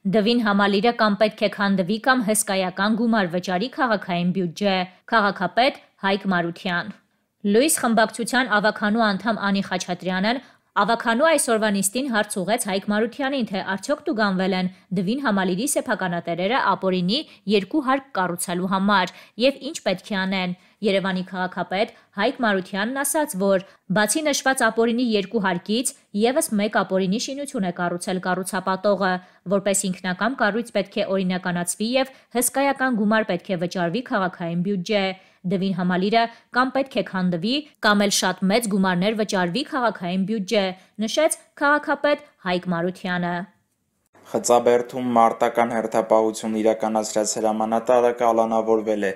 Դվին համալիրը կամ պետք է քանդվի կամ հսկայական գումար վճարի քաղաքային բյուջե։ Քաղաքապետ Հայկ Մարության։ Լույս խմբակցության ավականու անդամ Անի Խաչատրյանն ավականու այսօրվա նիստին հարց ուղղեց Հայկ Մարությանին, թե արդյոք տուգանվել են Դվին համալիրի սեփականատերերը ապօրինի 2 հարկ կառուցելու համար եւ ինչ պետք է անեն։ Երևանի քաղաքապետ Հայկ Մարությանն ասաց, որ բացի նշված ապօրինի 2 հարկից եւս 1 ապօրինի շինություն է կառուցել կառուցապատողը, որպես ինքնակամ կառույց պետք է օրինականացվի եւ հսկայական գումար պետք է վճարվի քաղաքային բյուջե։ Դվին համալիրը կամ պետք է քանդվի, կամ էլ շատ մեծ գումարներ վճարվի քաղաքային բյուջե, նշեց քաղաքապետ Հայկ Մարությանը։ Խծաբերդում մարտական հերթապահություն իրականացրած հրամանատարը կալանավորվել է։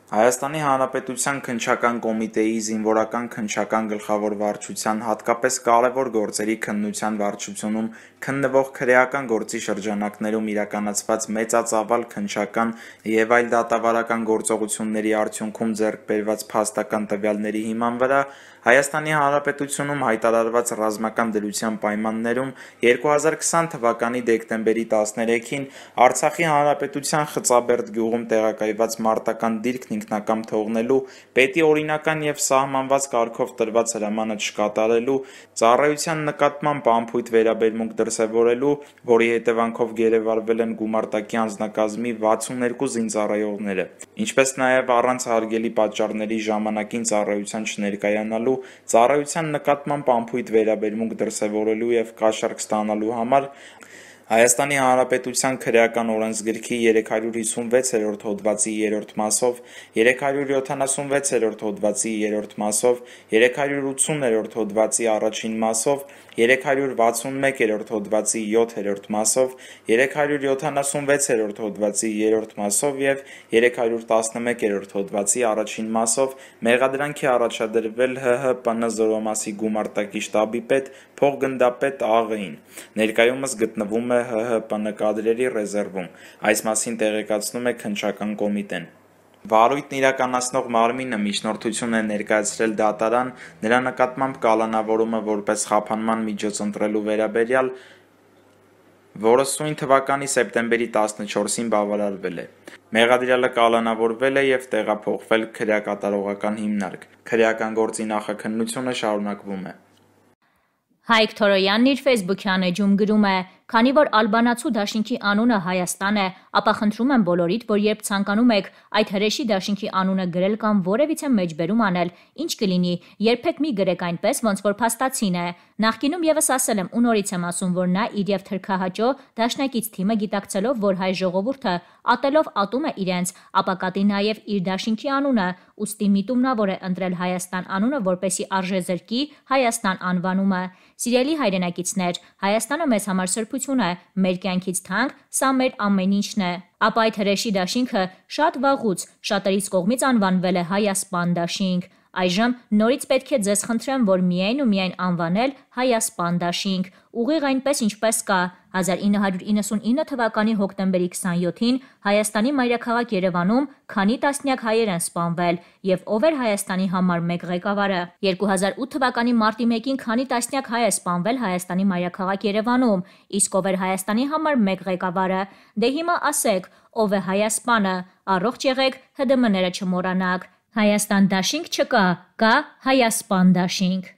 Հայաստանի Հանրապետության քննչական կոմիտեի զինվորական քննչական գլխավոր վարչության հատկապես կարևոր գործերի քննության վարչությունում քննվող քրեական գործի շրջանակներում իրականացված մեծածավալ քննչական եւ այլ դատավարական գործողությունների արդյունքում ձեռք բերված փաստական տվյալների հիման վրա Հայաստանի Հանրապետությունում հայտարարված ռազմական դրության պայմաններում 2020 թվականի դեկտեմբերի 13-ին Արցախի Հանրապետության Խծաբերդ գյուղում տեղակայված մարտական դիրքն ինքնակամ թողնելու, պետի օրինական եւ սահմանված կարգով տրված հրամանը չկատարելու, ծառայության նկատմամբ անփույթ վերաբերմունք դրսևորելու, որի հետևանքով գերեվարվել են գումարտակի անձնակազմի 62 զինծառայողները, ինչպես նաեւ առանց հարգելի պատճառների ժամանակին ծառայության չներկայանալու, ծառայության նկատմամբ անփույթ վերաբերմունք դրսևորելու եւ կաշառք ստանալու համար Հայաստանի Հանրապետության քրեական օրենսգրքի 356-րդ հոդվածի 3-րդ մասով, 376-րդ հոդվածի 3-րդ մասով, 380-րդ հոդվածի առաջին մասով, 361-րդ հոդվածի 7-րդ մասով, 376-րդ հոդվածի 3-րդ մասով եւ 311-րդ հոդվածի առաջին մասով մեղադրանքի առաջադրվել ՀՀՊՆ զորամասի գումարտակի շտաբի պետ փոխգնդապետ ԱՂ-ին։ Ներկայումս գտնվում է ՀՀՊՆ կադրերի ռեզերվում։ Այս մասին տեղեկացնում է քննչական կոմիտեն։ Վարույթն իրականացնող մարմինը միջնորդություն է ներկայացրել դատարան նրա նկատմամբ կալանավորումը որպես խափանման միջոց ընտրելու վերաբերյալ, որը սույն թվականի սեպտեմբերի 14-ին բավարարվել է։ Մեղադրյալը կալանավորվել է եւ տեղափոխվել քրեակատարողական հիմնարկ։ Քրեական գործի նախաքննությունը շարունակվում է։ Հայկ Թորոյանն իր ֆեյսբուքյան էջում գրում է. «Քանի որ ալբանացու դաշինքի անունը Հայաստան է, ապա խնդրում եմ բոլորիդ, որ երբ ցանկանում եք այդ հրեշի դաշինքի անունը գրել կամ որևիցե մեջբերում անել, ինչ կլինի, երբեք մի գրեք այնպես, ոնց որ փաստացին է։ Նախկինում եւս ասել եմ ու նորից եմ ասում, որ նա իր եւ թրքահաճո դաշնակից թիմը գիտակցելով, որ հայ ժողովուրդը ատելով ատում է իրենց, ապա կատի նաեւ իր դաշինքի անունը, ուստի միտումնավոր է ընտրել Հայաստան անունը, որպեսի արժեզրկի Հայաստան անվանումը։ Սիրելի հայրենակիցներ, Հայաստանը մեզ համար սրբություն է, մեր կյանքից թանկ, սա մեր ամեն ինչն է։ Ապա այդ հրեշի դաշինքը շատ վաղուց շատերիս կողմից անվանվել է Հայասպան դաշինք։ Այժմ նորից պետք է ձեզ խնդրեմ, որ միայն ու միայն անվանել Հայասպան դաշինք, ուղիղ այնպես ինչպես կա։ 1999 թվականի հոկտեմբերի 27-ին Հայաստանի մայրաքաղաք Երևանում քանի տասնյակ հայեր են սպանվել եւ ով էր Հայաստանի համար մեկ ղեկավարը։ 2008 թվականի մարտի 1-ին քանի տասնյակ հայ է սպանվել Հայաստանի մայրաքաղաք Երևանում, իսկ ով էր Հայաստանի համար մեկ ղեկավարը։ Դե հիմա ասեք, ով է Հայասպանը, առողջ եղեք, ՀԴՄ-ները չմոռանաք։ Հայաստան դաշինք չկա, կա Հայասպան դաշինք։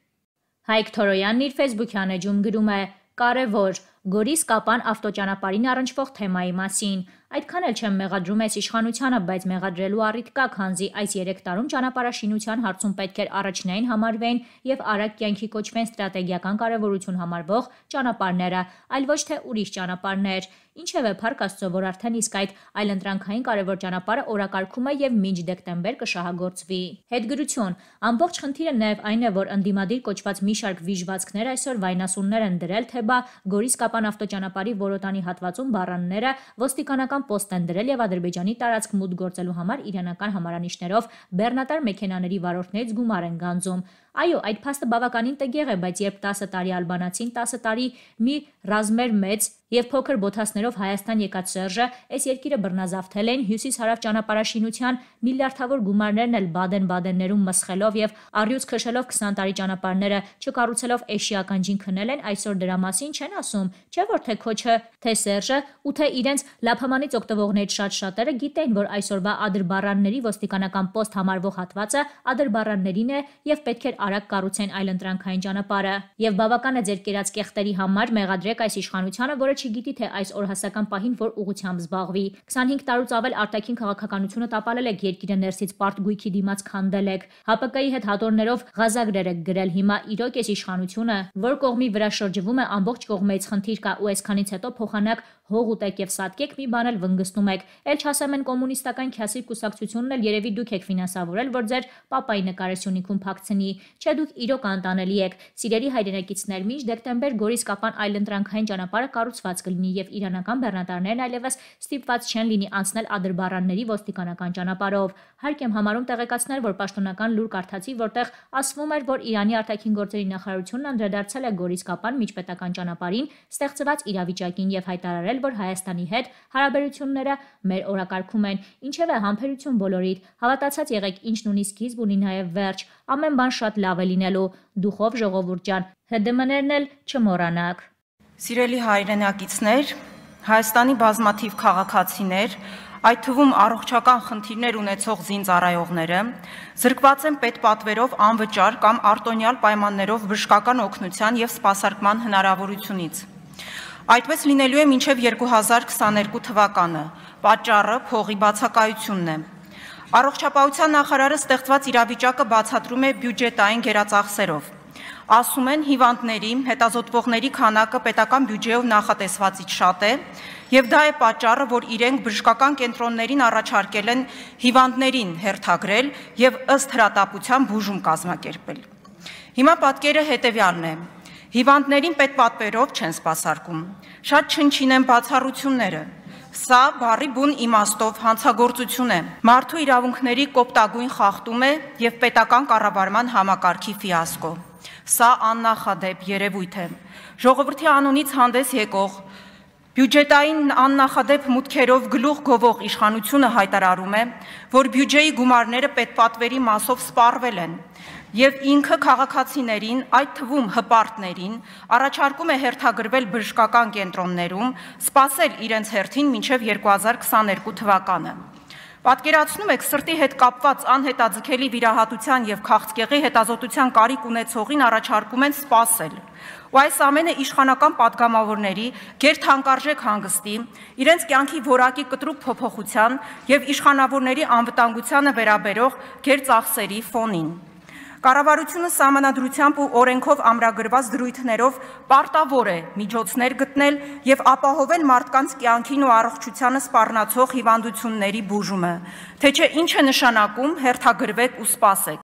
Հայկ Թորոյանն իր ֆեյսբուքյան էջում գրում է. «Կարևոր Գորիս-Կապան ավտոճանապարհին առնչվող թեմայի մասին։ Այդքան էլ չեմ մեղադրում այս իշխանությանը, բայց մեղադրելու առիթ կա, քանզի այս 3 տարում ճանապարհաշինության հարցում պետք էր առաջնային համարվեն եւ արագ կյանքի կոչվեն ստրատեգիական կարեւորություն համարվող ճանապարհները, այլ ոչ թե ուրիշ ճանապարհներ։ Ինչևէ, փառք Աստծո, որ արդեն իսկ այդ այլընտրանքային կարևոր ճանապարհը օրակարգում է եւ մինչ դեկտեմբեր կշահագործվի»։ Հետգրություն. ամբողջ խնդիրը նաեւ այն է, որ ընդդիմադիր կոչված մի շարք վիժվածքներ այսօր վայնասուններ են դրել, թե բա Գորիս-Կապան ավտոճանապարհի Որոտանի հատվածում բառանները ոստիկանական պոստ են դրել եւ Ադրբեջանի տարածք մուտք գործելու համար իրանական համարանիշներով բեռնատար մեքենաների վարորդներից գումար են գանձում։ Այո, այդ փաստը բավականին տգեղ է, բայց երբ 10 տարի ալբանացին 10 տարի մի ռազմեր մեծ Եվ փոքր բոթասներով Հայաստան եկած Սերժը այս երկիրը բռնազավթել էին հյուսիս-հարավ ճանապարհաշինության միլիարդավոր գումարներն էլ Բադեն-Բադեններում մսխելով եւ առյուծ քշելով 20 տարի ճանապարհները չկառուցելով էշի ականջին քնել են, այսօր դրա մասին չեն ասում, չէ՞ որ թե քոչը, թե Սերժը ու թե իրենց լափամանից օգտվողներից շատ-շատերը գիտեն, որ այսօրվա ադրբարանների ոստիկանական պոստ համարվող հատվածը ադրբարաններին է եւ պետք էր արագ կառուցեն այլընտրանքային ճանապարհը։ Եվ բավական է ձեր կերած կեղտերի համար մեղադրեք այս իշխանությանը, որը չգիտի թե այս օրհասական պահին որ ուղղությամբ զբաղվի։ 25 տարուց ավել արտաքին քաղաքականությունը տապալել եք, երկիրը ներսից պարտ գույքի դիմաց քանդել եք, ՀՊԿ-ի հետ հատորներով ղազագրեր եք գրել, հիմա իրոք այս իշխանությունը, որ կողմի վրա շրջվում է, ամբողջ կողմից խնդիր կա ու այսքանից հետո փոխանակ հող ուտեք եւ սատկեք, մի բան էլ վնգստում եք, էլ չասեմ են կոմունիստական քյասի կուսակցությունն էլ երևի դուք եք ֆինանսավորել, որ ձեր պապայի նկարեսյունիքում փակցնի, չէ դուք իրոք անտանելի եք, սիրելի հայրենակիցներ, մինչ դեկտեմբեր Գորիս-Կապան այլընտրանքային ճանապարհը կառուցված կլինի եւ իրանական բեռնատարներն այլևս ստիպված չեն լինի անցնել ադրբարանների ոստիկանական ճանապարհով։ Հարկ եմ համարում տեղեկացնել, որ պաշտոնական լուր կարդացի, որտեղ ասվում էր, որ Իրանի արտաքին գործերի նախարարությունն անդրադարձել է Գորիս-Կապան միջպետական ճանապարհին ստեղծված իրավիճակին եւ հայտարարել, որ Հայաստանի հետ հարաբերությունները մեր օրակարգում են, ինչևէ համբերություն բոլորիդ, հավատացած եղեք ինչն ունի սկիզբ ունի նաեւ վերջ, ամեն բան շատ լավ է լինելու, դուխով ժողովուրդ ջան, ՀԴՄ-ներն էլ չմոռանաք։ Սիրելի հայրենակիցներ, Հայաստանի բազմաթիվ քաղաքացիներ, այդ թվում առողջական խնդիրներ ունեցող զինծառայողները զրկված են պետպատվերով անվճար կամ արտոնյալ պայմաններով բժշկական օգնության եւ սպասարկման հնարավորությունից։ Այդպես լինելու է մինչև 2022 թվականը, պատճառը փողի բացակայությունն է։ Առողջապահության նախարարը ստեղծված իրավիճակը բացատրում է բյուջետային գերածախսերով։ Ասում են հիվանդների, հետազոտվողների քանակը պետական բյուջեով նախատեսվածից շատ է, եւ դա է պատճառը, որ իրենք բժշկական կենտրոններին առաջարկել են հիվանդներին հերթագրել եւ ըստ հրատապության բուժում կազմակերպել։ Հիմա պատկերը հետեւյալն է. հիվանդներին պետպատվերով չեն սպասարկում, շատ չնչին են բացառությունները։ Սա բառի բուն իմաստով հանցագործություն է, մարդու իրավունքների կոպտագույն խախտում է եւ պետական կառավարման համակարգի ֆիասկո։ Սա աննախադեպ երևույթ է։ Ժողովրդի անունից հանդես եկող բյուջետային աննախադեպ մուտքերով գլուխ գովող իշխանությունը հայտարարում է, որ բյուջեի գումարները պետպատվերի մասով սպառվել են եւ ինքը քաղաքացիներին, այդ թվում հպարտներին, առաջարկում է հերթագրվել բժշկական կենտրոններում, սպասել իրենց հերթին մինչև 2022 թվականը։ Պատկերացնում եք սրտի հետ կապված անհետաձգելի վիրահատության եւ քաղցկեղի հետազոտության կարիք ունեցողին առաջարկում են սպասել։ Ու այս ամենը իշխանական падգամավորների գերթանկարժեք հանգստի, իրենց կյանքի որակի կտրուկ փոփոխության եւ իշխանավորների անվտանգությանը վերաբերող գերծախսերի ֆոնին։ Կառավարությունը սահմանադրությամբ ու օրենքով ամրագրված դրույթներով պարտավոր է միջոցներ գտնել եւ ապահովել մարդկանց կյանքին ու առողջությանը սպառնացող հիվանդությունների բուժումը, թե չէ ինչ է նշանակում հերթագրվեք ու սպասեք։